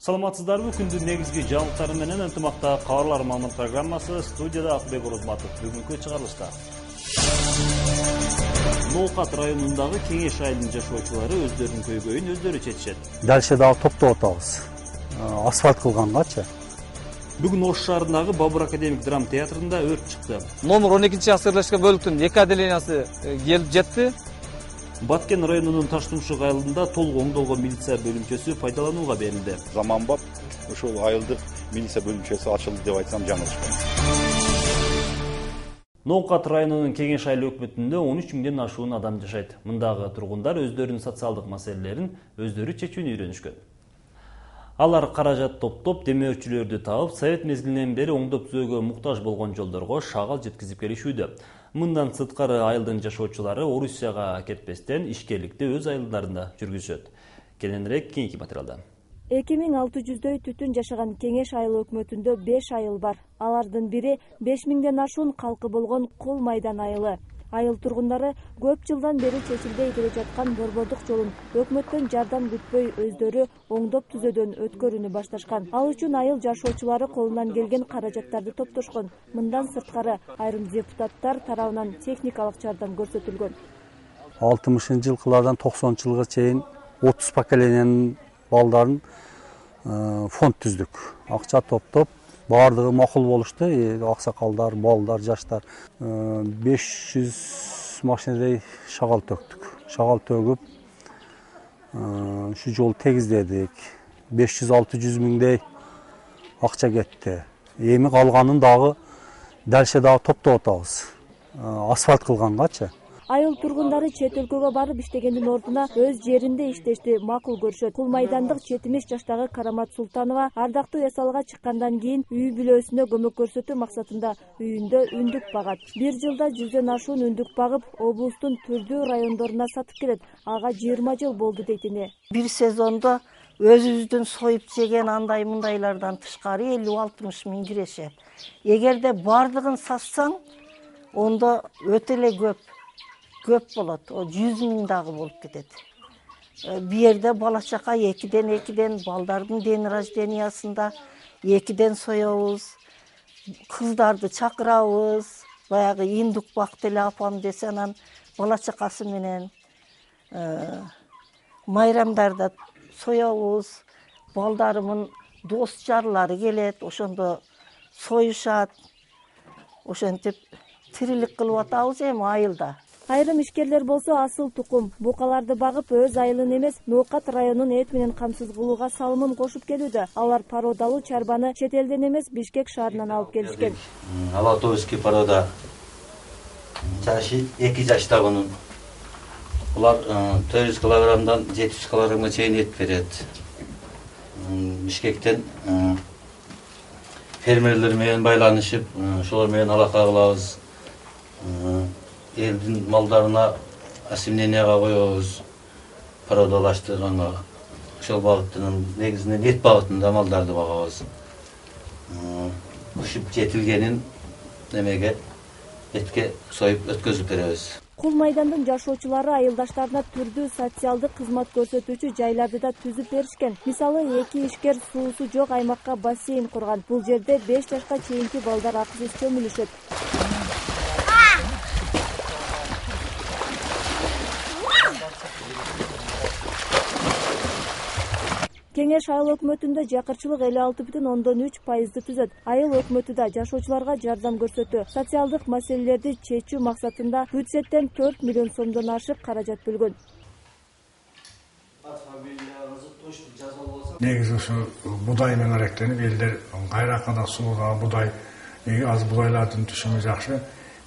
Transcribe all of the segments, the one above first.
Саламатсыздарбы, күндүн негизги жаңылыктары менен ынтымакта кабарлар мамыр программасы, студияда Акбек Орозматов. Бүгүнкү чыгарылышта Ноокат районундагы Кеңеш айылынын жашоочулары өздөрүнүн көйгөйүн өздөрү чечишет. Дальше дагы топтоп атабыз. Асфальт кылгангачы. Бүгүн Ош шаарындагы Бабур академик драма театрында өрт чыкты. Номер 12 асырлашкан бөлүктүн 2 отделениясы келип жетти. Баткен районунун Таштумшук айылында толук оңдолгон милиция бөлүмчөсү пайдаланууга берилди. Заманбап ошол айылдык милиция бөлүмчөсү ачылды деп айтсам жаңылышпайм. Ноокат районунун Кеңеш айыл өкмөтүндө 13 миңден ашуун адам жашайт. Мындагы тургундар өздөрүнүн социалдык маселелерин өздөрү чечүүнү үйрөнүшкөн. Алар каражат топтоп, демөөрчүлөрдү таап, совет мезгилинен бери оңдоп түзөөгө муктаж болгон жолдорго шагал жеткизип келишүүдө. Мындан сырткары айылдын жашоочулары Орусияга кетпестен ишкерликти өз айылдарында жүргүзөт. Кененирээк кийинки материалда. 2600дөй түтүн жашаган Кеңеш айыл өкмөтүндө 5 айыл бар. Алардын бири 5000ден ашуун калкы болгон Кол майдан айылы. Айыл тургундары көп жылдан бери чечилбей келе жаткан борбордук жолун өкмөттөн жардам күтпөй өздөрү оңдоп түзөөдөн өткөрүүнү башташкан. Ал үчүн айыл жашоочулары колунан келген каражаттарды топтошкон. Мындан сырткары айрым депутаттар тарабынан техникалык жардам көрсөтүлгөн. 60-жылкылардан 90-жылга чейин 30 поколениянын балдарын фонд түздүк. Акча топтоп, бардыгы макул болушту, аксакалдар, балдар, жаштар. 500 машинедей шагал төктүк. Шагал төгүп, ушу жолду тегиздедик. 500-600 миңдей акча кетти. Эми калганын дагы дальше дагы топтоп атабыз. Асфальт кылгангачы. Айыл тургундары чет өлкөгө барып иштегендин ордуна өз жеринде иштешти макул көрүшөт. Кул майдандык 70 жаштагы Карамат Султанова ардактуу эсалга чыккандан кийин үй бүлөсүнө көмөк көрсөтүү максатында үйүндө үндүк багат. Бир жылда 100дөн ашуун үндүк багып, облустун түрдүү райондоруна сатып келет. Ага 20 жыл болду дейт эне. Бир сезондо өзүбүздүн союп жеген андай мындайлардан тышкары 50-60 миң кирешет. Эгерде бардыгын сатсаң, ондо өтө эле көп болот. 100 миң дагы болуп кетет. Бу жерде бала чака 2ден балдардын ден рождениясында 2ден соебуз. Кыздарды чакырабыз. Баягы индук бакты эле апам десе, анан бала чакасы менен майрамдарда соебуз. Балдарымын дос жарлары келет, ошондо союшат. Ошентип тирилик кылып атабыз эми айылда. Айрым ишкерлер болсо асыл тукум букаларды багып өз айылын эмес, Ноокат районун эт менен камсыз кылууга салымын кошуп келүүдө. Алар породалуу чарбаны чет элден эмес, Бишкек шаарынан алып келишкен. Алатовский порода. Жашы 2 жашта bunun. Булар 400 килограммдан 700 килограммга чейин эт берет. Бишкектен фермерлер менен байланышып, ошолор менен алака кылабыз. Элдин малдарына осемненияга коебуз, породалаштырганга. Ошол багыттын негизинен эт багытында малдарды багабыз. Ушуп жетилгенин немеге этке союп өткөзүп беребиз. Кул майдандын жашоочулары айылдаштарына түрдүү социалдык кызмат көрсөтүүчү жайларды да түзүп беришкен. Мисалы, 2 ишкер суусу жок аймакка бассейн курган. Бул жерде 5 жашка чейинки балдар акысыз чөмүлүшөт. Кеңеш айыл өкмөтүндө жакырчылык 56,3% түзөт. Айыл өкмөтү да жашоочуларга жардам көрсөтүү. Социалдык маселелерди чечүү максатында бюджеттен 4 миллион сомдон ашык каражат бөлгөн. Негизи ушу будай менен аректенип, элдер кайракада сууга будай, аз будайлардын түшүмү жакшы.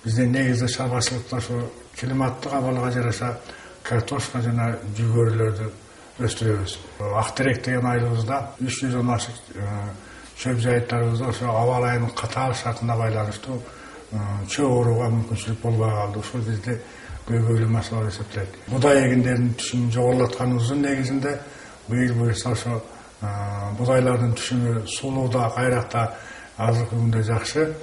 Биздин негизи чарбачылыкта ушу климаттык абалга жараша картошка жана жүгөрүлөрдү өстүрөбүз. Актерек деген айылыбызда 300дөн ашык чөп жайыттарыбызда ошо аба ылайынын катаал шартына байланыштуу чөп орууга мүмкүнчүлүк болбой калды. Ушул бизде көйгөйлүү маселе болуп эсептелет. Будай эгиндеринин түшүмүн жогорулатканыбыздын негизинде быйыл буюрса ошо будайлардын түшүмү сулууда, кайракта азыркы күндө жакшы.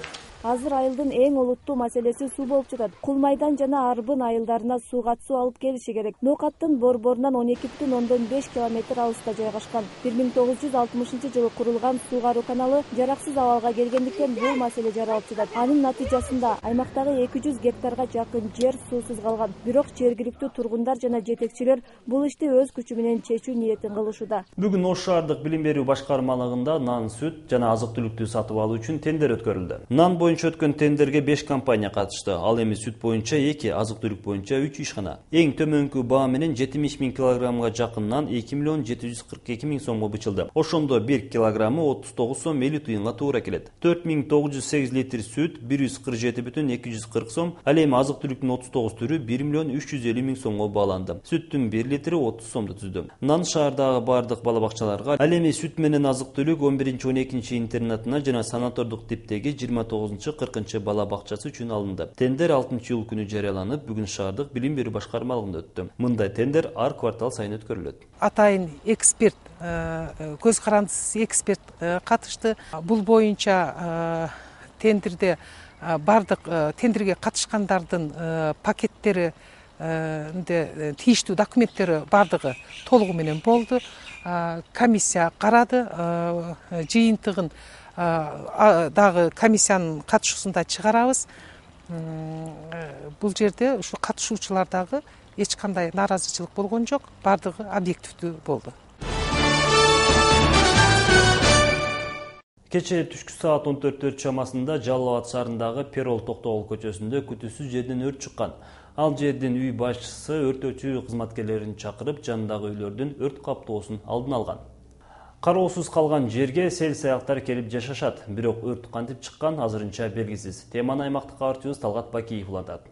Азыр айылдын эң олуттуу маселеси суу болуп жатат. Кулмайдан жана Арбын айылдарына суу катуу алып келиши керек. Ноокаттын борборунан 12,5 километр алыста жайгашкан. 1960 курулган суу кароо каналы жараксыз абалга келгендиктен бул маселе жаралып жатат. Анын натыйжасында аймактагы 200 гектарга жакын жер суусуз калган. Бирок жергиликтүү тургундар жана жетекчилер бул ишти өз күчү менен чечүү ниетин кылышууда. Бүгүн Ош шаардык билим берүү башкармалыгында нан, сүт жана азык-түлүктү сатып алуу үчүн тендер өткөрүлдү. Нан боюнча өткөн тендерге 5 компания катышты. Ал эми сүт боюнча 2, азык-түлүк боюнча 3 ишкана. Эң төмөнкү баа менен 70 000 килограммга жакын нан 2 742 000 сомго бичилди. Ошондо 1 килограммы 39 сом 50 тыйынга туура келет. 4908 литр сүт 147,240 сом, ал эми азык-түлүктүн 39 түрү 1 350 000 сомго бааланды. Сүттүн 1 литри 30 сомду түздү. Нан шаардагы бардык бала бакчаларга, ал эми сүт менен азык-түлүк 11-12 интернатына жана санатордук типтеги 29-40 бала бакчасы үчүн алынды. Тендер 6-июль күнү жарыяланып, бүгүн шаардык билим берүү башкармалыгында өттү. Мындай тендер ар квартал сайын өткөрүлөт. Атайын эксперт, көз карандысыз эксперт катышты. Бул боюнча тендерде бардык тендерге катышкандардын пакеттери, тийиштүү документтери бардыгы толугу менен болду. Комиссия карады, жыйынтыгын дагы комиссиянын катышуусунда чыгарабыз. Бул жерде ушу катышуучулардагы эч кандай нааразычылык болгон жок, бардыгы объективдүү болду. Кечээ түшкү саат 14 чамасында Жалал Абад шаарындагы Перол Токтогул көчөсүндө күтүүсүз жерден өрт чыккан. Ал жердин үй башчысы өртөөчү кызматкерлерин чакырып, жанындагы үйлөрдүн өрт каптоосун алдын алган. Кароосуз калган жерге сел саяктар келип жашашат, бирок өрт кантип чыккан азырынча белгисиз. Теманы аймактык кабарчыбыз Талгат Бакиев улантат.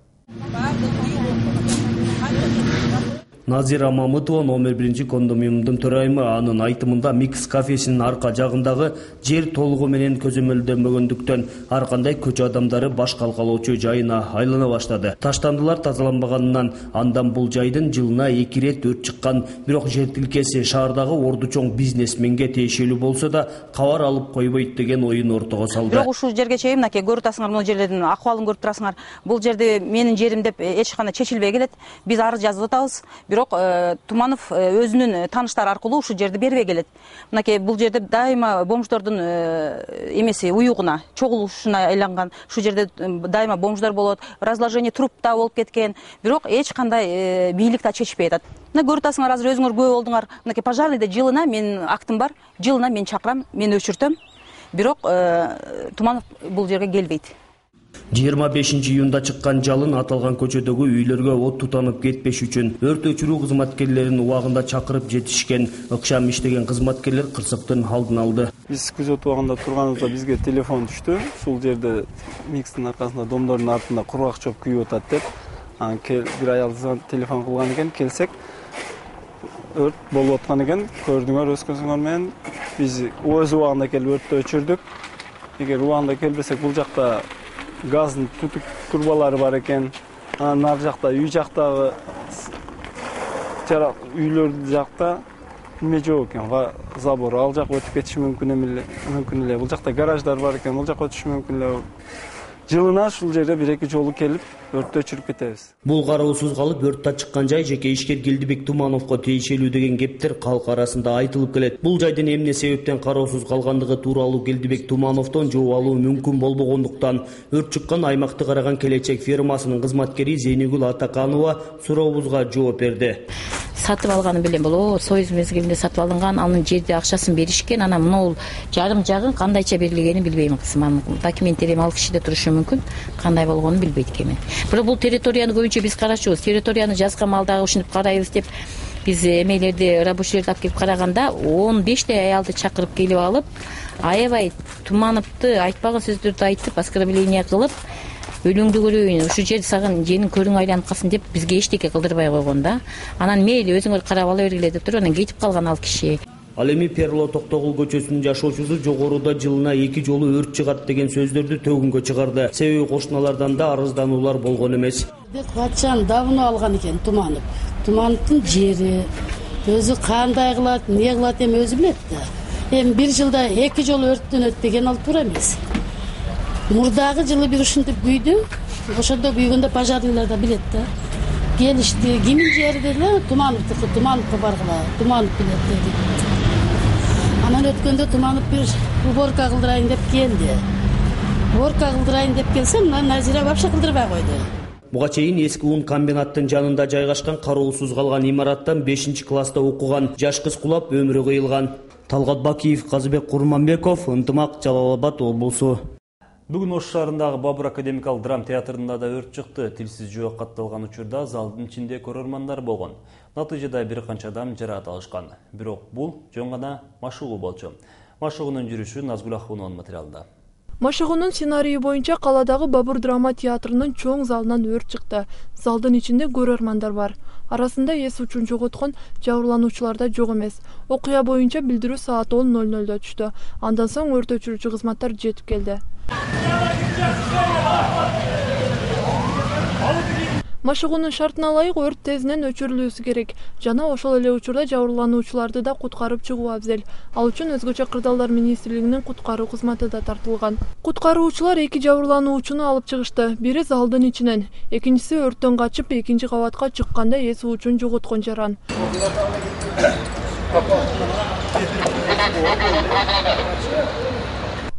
Назира Мамытова номер 1 кондоминиумдун төрайымы. Анын айтымында Микс кафесинин арка жагындагы жер толугу менен көзөмөлдөнбөгөндүктөн ар кандай көчө адамдары баш калкалоочу жайына айлана баштады. Таштандылар тазаланбаганынан андан бул жайдын жылына 2 рет өрт чыккан. Бирок жер тилкеси шаардагы орду чоң бизнесменге тиешелүү болсо да кабар алып койбойт деген оюн ортого салды. Бирок ушул жерге чейин мынакей көрүп атасыңар, бул жерлердин акыбалын көрүп турасыңар. Бул жерде менин жерим деп эч кандай чечилбей келет. Биз арыз жазып атабыз. Бирок Туманов өзүнүн тааныштары аркылуу ушул жерди бербей келет. Мынакей бул жерде дайыма бомждордун эмеси уюгуна, чогулушуна айланган. Ушул жерде дайыма бомждор болот, разложение трупта болуп кеткен. Бирок эч кандай бийлик да чечпей атат. Мына көрүп атасыңар, азыр өзүңөр күбө болдуңар. Мынакей пожарныйда жылына менин актым бар. Жылына мен чакырам, мен өчүртөм. Бирок Туманов бул жерге келбейт. 25 июнда чыккан жалын аталган көчөдөгү үйлөргө от тутанып кетпеш үчүн өрт өчүрүү кызматкерлерин убагында чакырып жетишкен. Ыкшам иштеген кызматкерлер кырсыктын алдын алды. Биз күзөтүп убагында турганыбызда бизге телефон түштү. Ушул жерде Микстин аркасында домдордун артында кургак чөп күйүп атат деп. Бир аял телефон кылган экен, келсек өрт болуп аткан экен. Көрдүңөр өз көзүңөр менен. Биз өз убагында келип өрттү өчүрдүк. Эгер убагында келбесек бул жакта газдын түтүк турбалары бар экен. Нар жакта үй жактагы үйлөр жакта эме жок экен, забор. Ал жак өтүп кетиши мүмкүн эле. Бул жакта гараждар бар экен, бул жакка өтүшү мүмкүн эле. Жылына ушул жерде 1-2 жолу келип өрттү өчүрүп кетебиз. Бул кароосуз калып өрт чыккан жай жеке ишкер Келдибек Тумановго тиешелүү деген кептер калк арасында айтылып келет. Бул жайдын эмне себептен кароосуз калгандыгы тууралуу Келдибек Тумановдон жооп алуу мүмкүн болбогондуктан өрт чыккан аймакты караган Келечек фермасынын кызматкери Зейнегүл Атаканова сурообузга жооп берди. Сатып алганы белем боло, союз мезгилинде сатып алынган, анын жерде акчасын беришкен, анан мына жарым жагын кандайча берилгенин билбейм. Кызым документтерим ал кишиде турушу мүмкүн, кандай болгонун билбейт экенмин. Бирок бул территорияны көбүнчө биз карачубуз. Территорияны жазган малдагы ушинтип карайбыз деп биз эмелерди, рабочийлерди алып келип караганда 15 аялды чакырып келип алып, аябай Тумановду айтпаган сөздөрдү айтып, оскорбление кылып, өлүңдү көрөйүн, ушу жер сагын женин көрүң айланып калсын деп бизге эчтеке кылдырбай койгон да. Анан мейли өзүңөр карап ала бергиле деп туруп, анан кетип калган ал киши. Ал эми Перло Токтогул көчөсүнүн жашоочусу жогоруда жылына 2 жолу өрт чыгат деген сөздөрдү төгүнгө чыгарды. Себеби кошуналардан да арыздануулар болгон эмес. Батчан давно алган экен Туманов. Тумановдун жери өзү кандай кылат, эмне кылат эми өзү билет да. Эми 1 жылда 2 жолу өрттөн өтпеген ал туура эмес. Мурдагы жылы бир ушинтип күйдү. Ошондо күйгөндө пожарныйлар да билет да. Келишти, кимин жери деле, Тумановго баргыла, Туманов билет деди. Анан өткөндө Туманов бир уборка кылдырайын деп келди. Уборка кылдырайын деп келсе, мына Назира вообще кылдырбай койду. Буга чейин эски ун комбинаттын жанында жайгашкан кароосуз калган имараттан 5-класста окуган жаш кыз кулап өмүрү кыйылган. Талгат Бакиев, Казыбек Курманбеков, Ынтымак, Жалал Абад облусу. Бүгүн Ош шаарындагы Бабур академикалык драма театрында да өрт чыкты. Тилсиз жооп катталган учурда залдын ичинде көрөрмандар болгон. Натыйжада бир канча адам жараат алышкан. Бирок бул жөн гана машыгуу болчу. Машыгуунун жүрүшү Назгүл Ахунованын материалында. Машыгуунун сценарийи боюнча каладагы Бабур драма театрынын чоң залынан өрт чыкты. Залдын ичинде көрөрмандар бар. Арасында эс учун жоготкон жабырлануучулар да жок эмес. Окуя боюнча билдирүү саат 10:00 түштү. Андан соң өрт өчүрүүчү кызматтар жетип келди. Машыгуунун шартына ылайык өрт тезинен өчүрүлүүсү керек. Жана ошол эле учурда жабырлануучуларды да куткарып чыгуу абзел. Ал үчүн өзгөчө кырдаалдар министрлигинин куткаруу кызматы да тартылган. Куткаруучулар 2 жабырлануучуну алып чыгышты. Бири залдын ичинен, экинчиси өрттөн качып 2-кабатка чыкканда эс учун жоготкон жаран.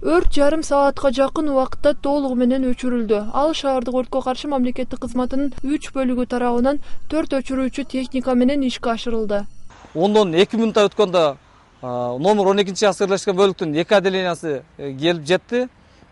Өрт жарым саатка жакын убакытта толугу менен өчүрүлдү. Ал шаардык өрткө каршы мамлекеттик кызматынын 3 бөлүгү тарабынан 4 өчүрүүчү техника менен ишке ашырылды. Ондон 2 минутта өткөндө номер 12 аскерлешкен бөлүктүн 2 отделениясы келип жетти.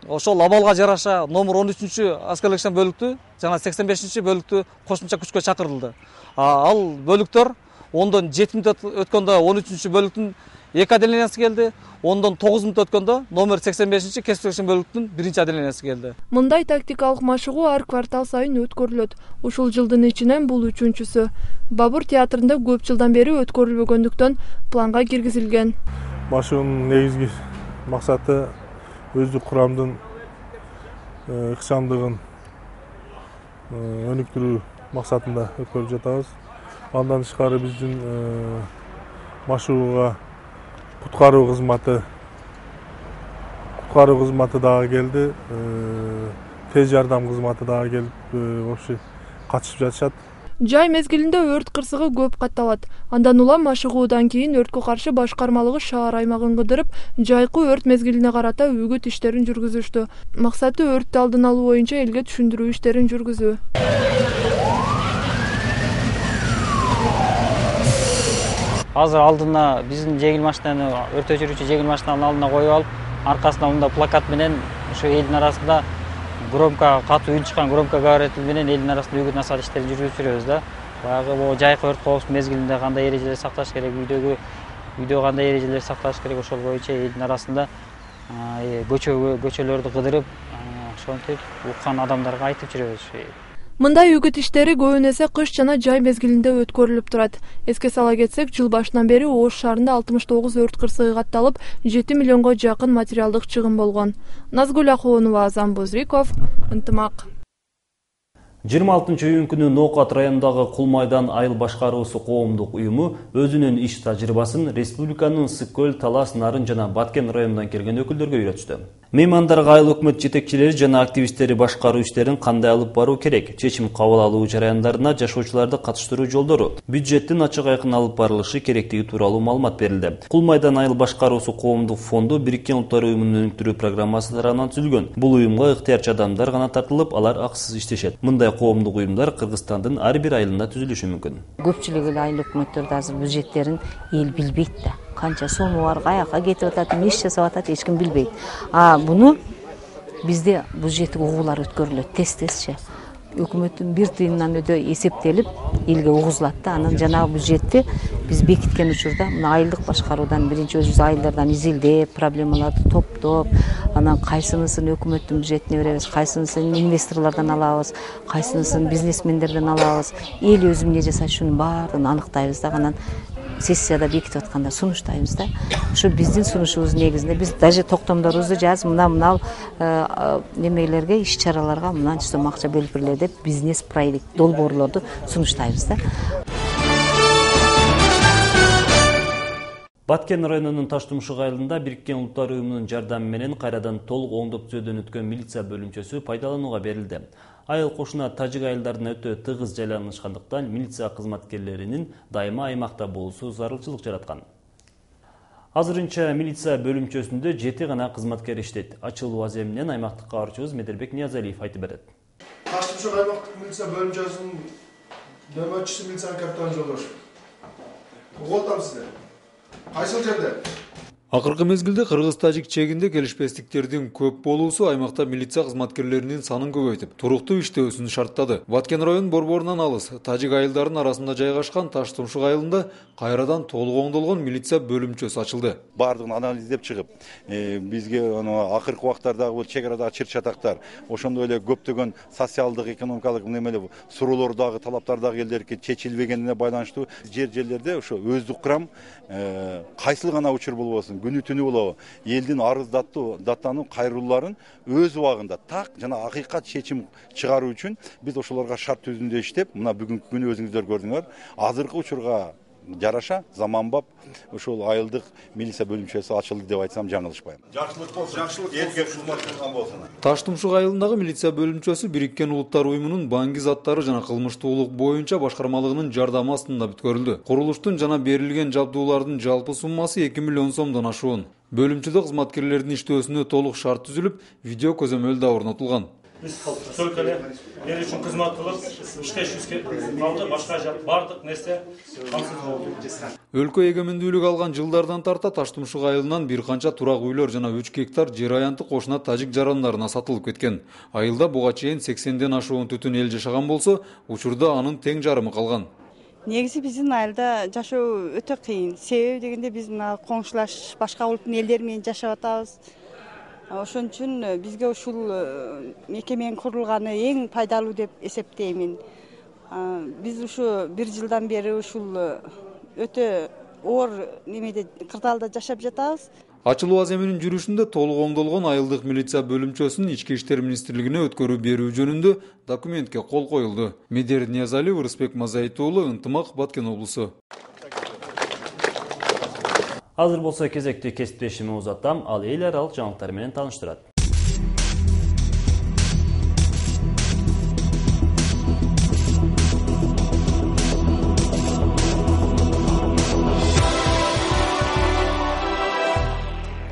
Ошол абалга жараша номер 13 аскерлешкен бөлүктү жана 85 бөлүктү кошумча күчкө чакырылды. Ал бөлүктөр ондон 7 минут өткөндө 13 бөлүктүн 2 отделениясы келди. Ондон 9 минут өткөндө номер 85 кесиптешкен бөлүктүн 1 отделениясы келди. Мындай тактикалык машыгуу ар квартал сайын өткөрүлөт. Ушул жылдын ичинен бул 3-чүсү. Бабур театрында көп жылдан бери өткөрүлбөгөндүктөн планга киргизилген. Машыгуунун негизги максаты өздүк курамдын ыкчамдыгын өнүктүрүү максатында өткөрүп жатабыз. Андан тышкары биздин машыгууга куткаруу кызматы дагы келди. Тез жардам кызматы дагы келип, вообще катышып жатышат. Жай мезгилинде өрт кырсыгы көп катталат. Андан улам машыгуудан кийин өрткө каршы башкармалыгы шаар аймагын кыдырып, жайкы өрт мезгилине карата үгүт иштерин жүргүзүштү. Максаты өрттү алдын алуу боюнча элге түшүндүрүү иштерин жүргүзүү. Азыр алдына биздин жеңил машинаны, өрт өчүрүүчү жеңил машинанын алдына коюп алып, аркасына мында плакат менен ушу элдин арасында громко катуу үн чыккан громко говоритель менен элдин арасында үгүт насаат иштерин жүргүзүп жүрөбүз да. Баягы могу жайкы өрт коопсуздук мезгилинде кандай эрежелер сакташ керек, үйдө кандай эрежелер сакташ керек, ошол боюнча элдин арасында көчөлөрдү кыдырып, ошентип уккан адамдарга айтып жүрөбүз. Мындай үгүт иштери көбүнесе кыш жана жай мезгилинде өткөрүлүп турат. Эске сала кетсек, жыл башынан бери Ош шаарында 69 өрт кырсыгы катталып, 7 миллионго жакын материалдык чыгым болгон. Назгүл Ахунова, Азам Бузриков, Ынтымак. 26 күнү Ноокат районундагы Кулмайдан айыл башкаруусу коомдук уюму өзүнүн иш тажрыйбасын республиканын Ысык көл, Талас, Нарын жана Баткен районунан келген өкүлдөргө үйрөтүштү. Меймандарга айыл өкмөт жетекчилери жана активисттери башкаруу иштерин кандай алып баруу керек, чечим кабыл алуу жараяндарына жашоочуларды катыштыруу жолдору, бюджеттин ачык айкын алып барылышы керектиги тууралуу маалымат берилди. Кулмайдан айыл башкаруусу коомдук фонду Бириккен Улуттар уюмунун өнүктүрүү программасы тарабынан түзүлгөн. Бул уюмга ыктыярчы адамдар гана тартылып, алар акысыз иштешет. Мындай коомдук уюмдар Кыргызстандын ар бир айылында түзүлүшү мүмкүн. Көпчүлүк эле айыл өкмөттөрдө азыр бюджеттерин эл билбейт да. Канча сому бар, каяка кетип атат, эмне иш жасап атат, эч ким билбейт. Буну бизде бюджеттик угуулар өткөрүлөт, тез-тезче. Өкмөттүн 1 тыйындан өдө эсептелип, элге угузулат да. Анан жанагы бюджетти биз бекиткен учурда мына айылдык башкаруудан биринчи өзүбүз айылдардан изилдеп, проблемаларды топтоп, анан кайсынысын өкмөттүн бюджетине беребиз, кайсынысын инвесторлордон алабыз, кайсынысын бизнесмендерден алабыз. Эл өзү эмне жасайт, шунун баарын аныктайбыз да. Анан сессияда бекитип атканда сунуштайбыз да. Ушу биздин сунушубуздун негизинде биз даже токтомдорубузду жазып, мына немелерге, иш-чараларга мынанча сом акча бөлүп берилет деп бизнес проект долбоорлорду сунуштайбыз да. Баткен районунун Таштумшук айылында Бириккен Улуттар Уюмунун жардамы менен кайрадан толук оңдоп түзөөдөн өткөн милиция бөлүмчөсү пайдаланууга берилди. Айыл кошуна тажик айылдарына өтө тыгыз жайланышкандыктан милиция кызматкерлеринин дайыма аймакта болуусу зарылчылык жараткан. Азырынча милиция бөлүмчөсүндө 7 гана кызматкер иштейт. Ачылуу аземинен аймактык кабарчыбыз Медербек Ниязалиев айтып берет. Таштумшук аймактык милиция бөлүмчөсүнүн нөмөрчүсү милиция капитан Жолдош. Уголтам сизде. Кайсыл жерде? Акыркы мезгилде кыргыз-тажик чегинде келишпестиктердин көп болуусу аймакта милиция кызматкерлеринин санын көбөйтүп, туруктуу иштөөсүн шарттады. Баткен район борборунан алыс тажик айылдарынын арасында жайгашкан Таштумшук айылында кайрадан толук оңдолгон милиция бөлүмчөсү ачылды. Бардыгын анализдеп чыгып, бизге акыркы убактардагы бул чек арадагы чыр-чатактар, ошондой эле көптөгөн социалдык, экономикалык немелер, суроолордагы талаптардагы элдерге чечилбегенине байланыштуу жерлерде ошо өздүк кырам кайсыл гана учур болбосун күнү түнү болобу элдин арыз даттануу кайрылууларын өз убагында так жана акыйкат чечим чыгаруу үчүн биз ошолорго шарт түзүндө иштеп, мына бүгүнкү күнү өзүңүздөр көрдүңөр. Азыркы учурга жараша заманбап ошол айылдык милиция бөлүмчөсү ачылды деп айтсам жаңылышпайм. Жакшылык болсун. Элге кызмат кылган болсун. Таштумшук айылындагы милиция бөлүмчөсү Бириккен Улуттар Уюмунун банги заттары жана кылмыштуулук боюнча башкармалыгынын жардамы астында бүткөрүлдү. Курулуштун жана берилген жабдуулардын жалпы суммасы 2 миллион сомдон ашуун. Бөлүмчөдө кызматкерлердин иштөөсүнө толук шарт түзүлүп, видео көзөмөл да орнотулган. Biz только ел үшін қызмат қылып, іштешімізге қалды, башқа бардық нәрсе қамсыз болды. Өлкө эгемендүүлүк алган жылдардан тарта Таштумшук айылынан бир канча турак үйлөр жана 3 гектар жер аянты кошуна тажик жарандарына сатылып кеткен. Айылда буга чейин 80ден ашуун түтүн эл жашаган болсо, учурда анын тең жарымы калган. Негизи биздин айылда жашоо өтө кыйын. Себеби дегенде биз коңшулаш башка улуттун элдери менен жашап атабыз. Ошон үчүн бизге ушул мекеменин курулганы эң пайдалуу деп эсептеймин. Биз ушу 1 жылдан бери ушул өтө оор немеде кырдаалда жашап жатабыз. Ачылуу аземинин жүрүшүндө толук оңдолгон айылдык милиция бөлүмчөсүнүн Ички иштер министрлигине өткөрүү берүү жөнүндө документке кол коюлду. Медер Ниязалиев, Рыспек Мазайыт уулу, Ынтымак, Баткен облусу. Азыр болсо кезекти кесиптешими узатам, ал эл аралык жаңылыктар менен тааныштырат.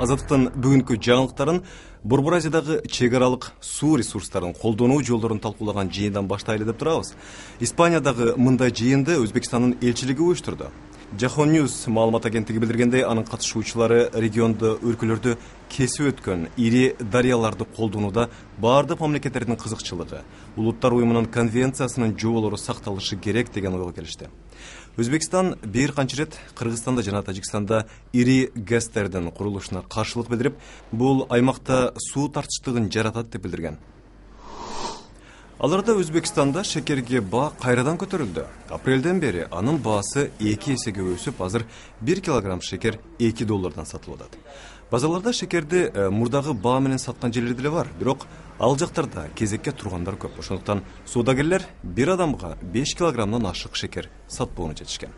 Азаттыктын бүгүнкү жаңылыктарын Борбор Азиядагы чек аралык суу ресурстарын колдонуу жолдорун талкуулаган жыйындан баштайлы деп турабыз. Испаниядагы мындай жыйынды Өзбекстандын элчилиги уюштурду. Жахон Ньюс маалымат агенттиги билдиргендей, анын катышуучулары региондо өлкөлөрдө кесип өткөн ири дарыяларды колдонууда бардык мамлекеттердин кызыкчылыгы, Улуттар Уюмунун конвенциясынын жоболору сакталышы керек деген ойго келишти. Өзбекстан бир канча рет Кыргызстанда жана Тажикстанда ири ГЭСтердин курулушуна каршылык билдирип, бул аймакта суу тартыштыгын жаратат деп билдирген. Аларда Өзбекстанда шекерге баа кайрадан көтөрүлдү. Апрелден бери анын баасы 2 эсеге өсүп, азыр 1 килограмм шекер $2 сатылып атат. Базарларда шекерди мурдагы баа менен саткан жерлер деле бар, бирок ал жактарда кезекке тургандар көп. Ошондуктан соодагерлер бир адамга 5 килограммдан ашык шекер сатпоону чечишкен.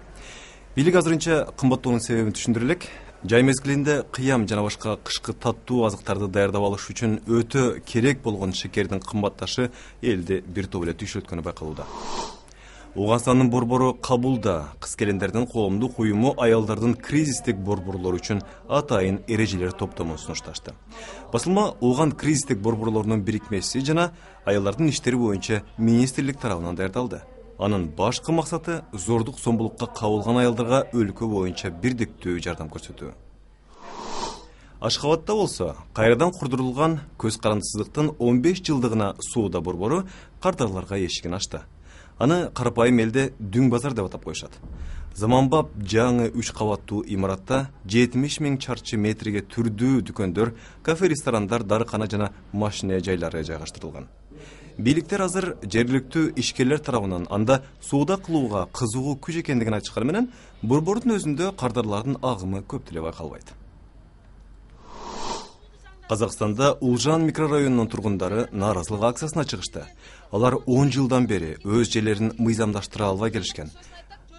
Бийлик азырынча кымбаттоонун себебин түшүндүрө элек. Жай мезгилинде кыям жана башка кышкы таттуу азыктарды даярдап алыш үчүн өтө керек болгон шекердин кымбатташы элди бир топ эле түйшөткөнү байкалууда. Ооганстандын борбору Кабулда кыз келиндердин коомдук уюму аялдардын кризистик борборлору үчүн атайын эрежелер топтомун сунушташты. Басылма Ооган кризистик борборлорунун бирикмеси жана аялдардын иштери боюнча министрлик тарабынан даярдалды. Анын башкы максаты зордук зомбулукка кабылган аялдарга өлкө боюнча бирдиктүү жардам көрсөтүү. Ашхабадда болсо, кайрадан курдурулган көз карандысыздыктын 15 жылдыгына соода борбору кардарларга эшигин ачты. Аны карапайым элде дүң базар деп атап коюшат. Заманбап жаңы 3 кабаттуу имаратта 70 000 чарчы метрге түрдүү дүкөндөр, кафе, ресторандар, дарыкана жана машина жайлары жайгаштырылган. Бийликтер азыр жергиликтүү ишкерлер тарабынан анда соода кылууга кызыгуу күч экендигин айтышканы менен, борбордун өзүндө кардарлардын агымы көп деле байкалбайт. Казакстанда Улжан микрорайонунун тургундары нааразылык акциясына чыгышты. Алар 10 жылдан бери өз жерлерин мыйзамдаштыра албай келишкен.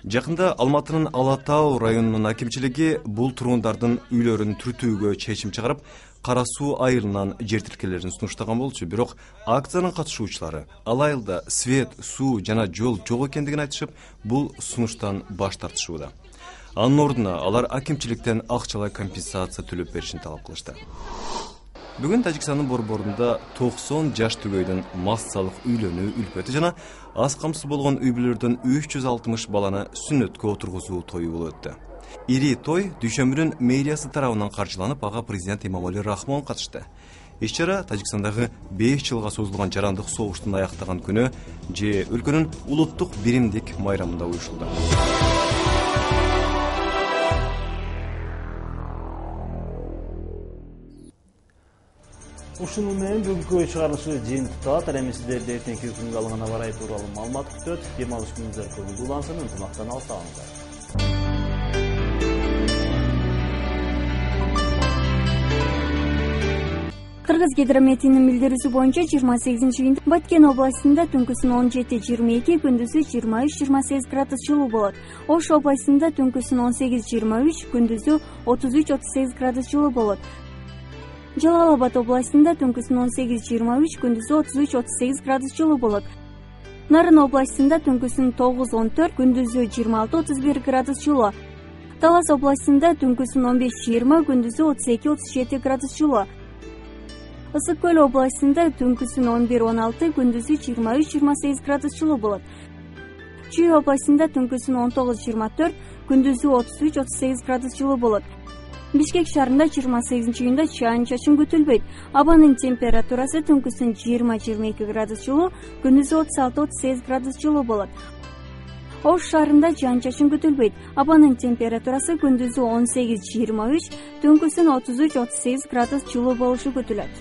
Жакында Алматынын Ала Тау районунун акимчилиги бул тургундардын үйлөрүн түртүүгө чечим чыгарып, Кара Суу айылынан жер тилкелерин сунуштаган болчу. Бирок акциянын катышуучулары ал айылда свет, суу жана жол жок экендигин айтышып, бул сунуштан баш тартышууда. Анын ордуна алар акимчиликтен акчалай компенсация төлөп беришин талап кылышты. Бүгүн Тажикстандын борборунда 90 жаш түгөйдүн массалык үйлөнүү үлпөтү жана аз камсыз болгон үй бүлөлөрдөн 360 баланы сүннөткө отургузуу тою болуп өттү. Ири той дүйшөмбүнүн мэриясы тарабынан каржыланып, ага президент Эмомали Рахмон катышты. Иш-чара Тажикстандагы 5 жылга созулган жарандык согуштун аяктаган күнү же өлкөнүн улуттук биримдик майрамында уюшулду. Ушуну менен бүгүнкү чыгарылышы жыйынтыкталат. Эми сиздерди эртеңки күнгө алынган аба ырайы тууралуу маалымат күтөт. Дем алыш күнүңүздөр көңүлдүү улансын, ынтымактан алыстабаңыздар. Кыргыз гидрометинин билдирүүсү боюнча 28-июнда Баткен областында түнкүсүн 17-22, күндүзү 23-28 градус жылуу болот. Ош областында түнкүсүн 18-23, күндүзү 33-38 градус жылуу болот. Жалал Абад областында түнкүсүн 18-23, күндүзү 33-38 градус жылуу болот. Нарын областында түнкүсүн 9-14, күндүзү 26-31 градус жылуу. Талас областында түнкүсүн 15-20, күндүзү 32-37 градус жылуу. Ысык көл областында түнкүсүн 11-16, күндүзү 23-28 градус жылуу болот. Чүй областында түнкүсүн 19-24, күндүзү 33-38 градус жылуу болот. Бишкек шаарында 28-июнда чаан-чачын күтүлбөйт. Абанын температурасы түнкүсүн 20-22 градус жылуу, күндүзү 36-38 градус жылуу болот. Ош шаарында чаан-чачын күтүлбөйт. Абанын температурасы күндүзү 18-23, түнкүсүн 33-38 градус жылуу болушу күтүлөт.